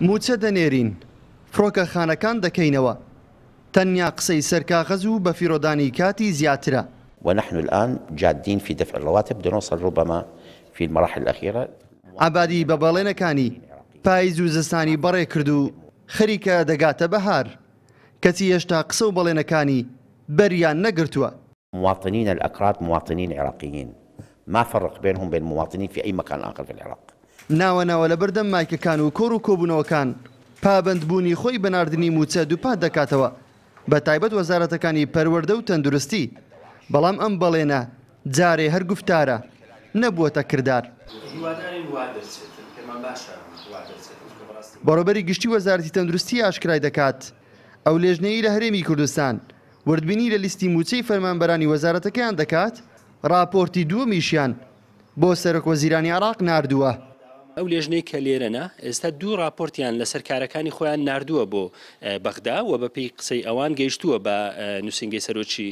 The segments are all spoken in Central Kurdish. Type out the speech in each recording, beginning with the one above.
مووچە دەنێرین، فڕۆکەخانەکان دەکەینەوە، تەنیا قسەی سەر کاغەز و بەفیڕۆدانی کاتی زیاترە. ونحن الآن جادین فی دفع الرواتب دنوصل ربما فی المراحل الاخیرە. عەبادی بە بەڵێنەکانی پایز و زستانی بەڕێ کرد و خەریکە دەگاتە بەهار، کەچی هێشتا قسە و بەڵێنەکانی بەریان نەگرتووە. مواطنین الاکراد مواطنین عراقیین ما فرق بینهم بین مواطنین فی ای مکان آخر فی العراق. ناوە ناوە لەبەردەم مایکەکان و کۆڕ و کۆبوونەوەکان پابەندبوونی خۆی بە ناردنی مووچە دووپات دەکاتەوە، بەتایبەت وەزارەتەکانی پەروەردە و تەندروستی، بەڵام ئەم بەڵێنە جارێ هەر گوفتارە، نەبووەتە کردار. بەڕێوەبەری گشتی وەزارەتی تەندروستی ئاشکرای دەکات، ئەو لێژنەیەی لە هەرێمی کوردستان وردبینی لە لیستی مووچەی فەرمانبەرانی وەزارەتەکەیان دەکات، ڕاپۆرتی دووەمیشیان بۆ سەرۆکوەزیرانی عێراق ناردووە. ئەو لێژنەی کە لێرەنە ئێستا دوو ڕاپۆرتیان لەسەر کارەکانی خۆیان ناردووە بۆ بەغدا و بەپێی قسەی ئەوان گەیشتووە بە نووسینگەی سەرۆکی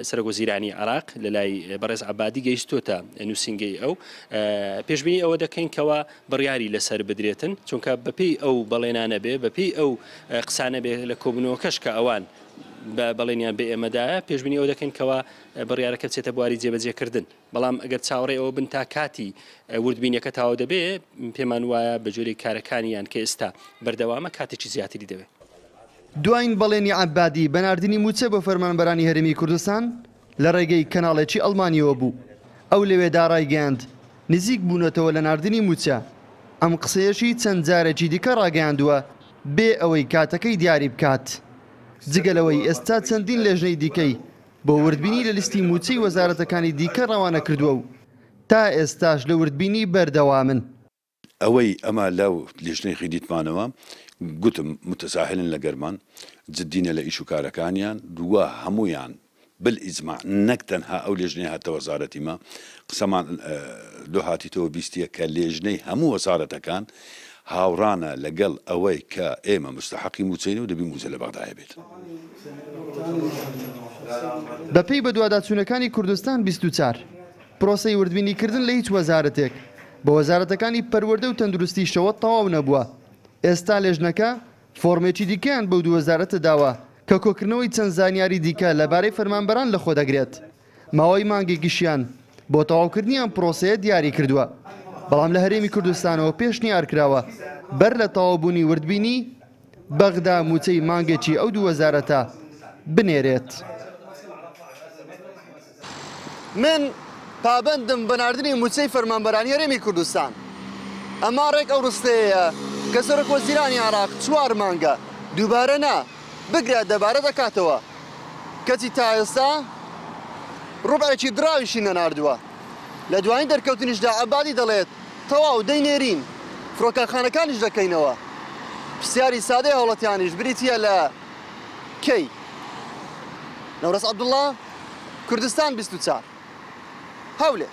سەرۆکوەزیرانی عێراق لەلای بەڕێز عەبادی گەیشتووەتە نووسینگەی ئەو. پێشبینی ئەوە دەکەین کەوا بڕیاری لەسەر بدرێتن، چونکە بەپێی ئەو بەڵێنانە بێ، بەپێی ئەو قسانە بێ لە کۆبوونەوەکەش کە ئەوان بە بەڵێنیان بە ئێمە دایە، پێشبینی ئەوە دەکەین کەوا بڕیارەکە بچێتە بواری جێبەجێکردن. بەڵام ئەگەر چاوەڕێی ئەوە بن تا کاتی وردبینیەکە تەواو دەبێ، پێمان وایە بە جۆرێک کارەکانیان کە ئێستا بەردەوامە کاتێکی زیاتری دەوێ. دواین بەڵێنی عەبادی بە ناردنی مووچە بۆ فەرمانبەرانی هەرێمی کوردستان لە ڕێگەی کەناڵێکی ئەڵمانییەوە بوو، ئەو لەوێدا ڕایگەیاند، نزیک بوونەتەوە لە ناردنی مووچە، ئەم قسەیەشی چەند جارێکی دیکە ڕاگەیاندووە بێ ئەوەی کاتەکەی دیاری بکات، جگە لەوەی ئێستا چەندین لێژنەی دیکەی بۆ وردبینی لە لیستی مووچەی وەزارەتەکانی دیکە ڕەوانە کردووە و تا ئێستاش لە وردبینی بەردەوامن. ئەوەی ئەمە لە لیژنەی خیدیتمانەوە گوتم متساهلن لە گەرمان جدینە لە ئیش و کارەکانیان دووە هەموویان بالئیجماع نەک تەنها ئەو لێژنەی هاتە وەزارەتی مە قسەمان لۆ هاتیتەوە بیستیە کە لێژنەی هەموو وەزارەتەکان هاوڕانە لەگەڵ ئەوەی کە ئێمە مستحەقی موچەین و دەبی موچە لە بەغدایە بێت. بەپێی بەدواداچوونەکانی کوردستان 24، پرۆسەی وردبینیکردن لە هیچ وەزارەتێک، بە وەزارەتەکانی پەروەردە و تەندروستیشەوە تەواو نەبووە، ئێستا لێژنەکە فۆرمێکی دیکەیان بەو دوو وەزارەتە داوە کە کۆکردنەوەی چەند زانیاری دیکە لەبارەی فەرمانبەران لەخۆدەگرێت، ماوەی مانگێکیشیان بۆ تەواوکردنی ئەم پرۆسەیە دیاری کردووە، بەڵام لە هەرێمی کوردستانەوە پێشنیارکراوە بەر لە تەواوبوونی وردبینی، بەغدا مووچەی مانگێکی ئەو دوو وەزارەتە بنێرێت. من پابەندم بە ناردنی مووچەی فەرمانبەرانی هەرێمی کوردستان. ئەمە ڕێک ئەو ڕستەیەیە کە سەرۆکوەزیرانی عێراق چوار مانگە دووبارە نا، بگرە دەبارە دەکاتەوە، کەچی تا ئێستا ڕوبعێکی دراویشی نەناردووە. لە دوایین دەرکەوتنیشدا عەبادی دەڵێت، تەواو دەینێرین، فڕۆکەخانەکانیش دەکەینەوە. پرسیاری سادەی هاوڵاتیانیش بریتییە لە کەی؟ نەورەس عەبدوڵڵا، کوردستان 24، هەولێر.